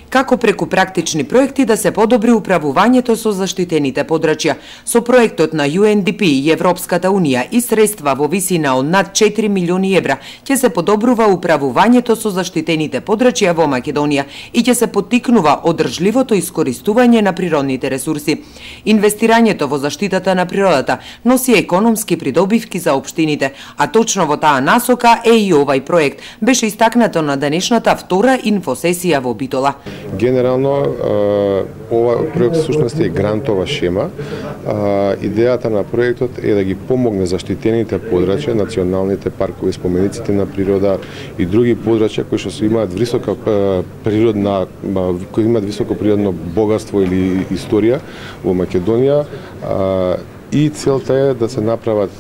како преку практични проекти да се подобри управувањето со заштитените подрачја. Со проектот на UNDP и Европската Унија и средства во висина од над 4 милиони евра ќе се подобрува управувањето со заштитените подрачја во Македонија и ќе се поттикнува одржливото искористување на природните ресурси. Инвестирањето во заштитата на природата носи економски придобивки за општините, а точно во таа насока е и овај проект. Беше истакнато на денешната втора инфосесија во Битола. Генерално, ова проект всушност е грантова шема. Идејата на проектот е да ги помогне заштитените подрачја, националните паркови, спомениците на природа и други подрачја кои што имаат висока природна, кои имаат високо природно богатство или историја во Македонија, и целта е да се направат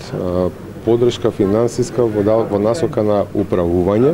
подршка финансиска во насока на управување,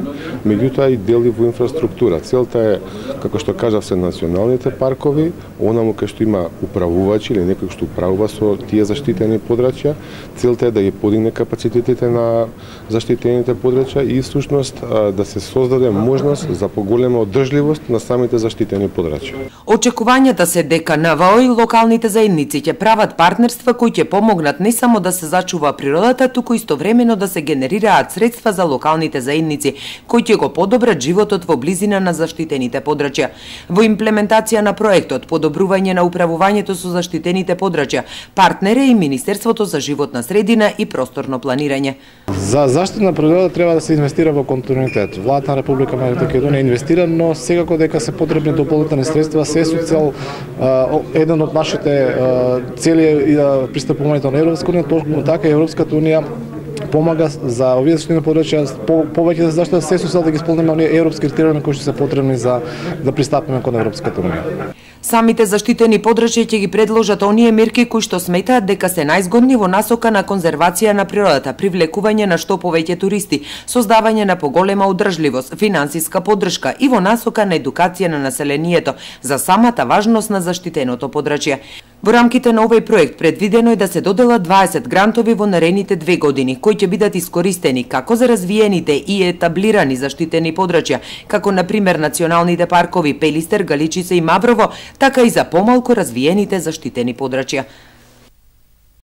меѓутоа и дели во инфраструктура. Целта е, како што кажав, се националните паркови, онаму кај што има управувачи или некој што управува со тие заштитени подрачја. Целта е да ги подигне капацитетите на заштитените подрачја и всушност да се создаде можност за поголема одржливост на самите заштитени подрачја. Очекувањата се дека НВО и локалните заедници ќе прават партнерства кои ќе помогнат не само да се зачува природата, туку истовремено да се генерираат средства за локалните заедници, кои ќе го подобрат животот во близина на заштитените подрачја. Во имплементација на проектот подобрување на управувањето со заштитените подрачја, партнер е и Министерството за животна средина и просторно планирање. За заштита на природата треба да се инвестира во континуитет. Владата на Република Македонија инвестира, но секако дека се потребни дополнителни средства, се со цел еден од нашите цели е пристапувањето на Европска унија, толку така и Европската унија помага за овие заштитени подрачја повеќе за заштита, се со цел да ги исполниме оние европски критериуми кои што се потребни за да пристапиме кон Европската унија. Самите заштитени подрачја ќе ги предложат оние мерки кои што сметаат дека се најзгодни во насока на конзервација на природата, привлекување на што повеќе туристи, создавање на поголема одржливост, финансиска поддршка и во насока на едукација на населението за самата важност на заштитеното подрачје. Во рамките на овој проект предвидено е да се доделат 20 грантови во наредните 2 години, кои ќе бидат искористени како за развиените и етаблирани заштитени подрачја, како на пример националните паркови Пелистер, Галичица и Маврово, така и за помалку развиените заштитени подрачја.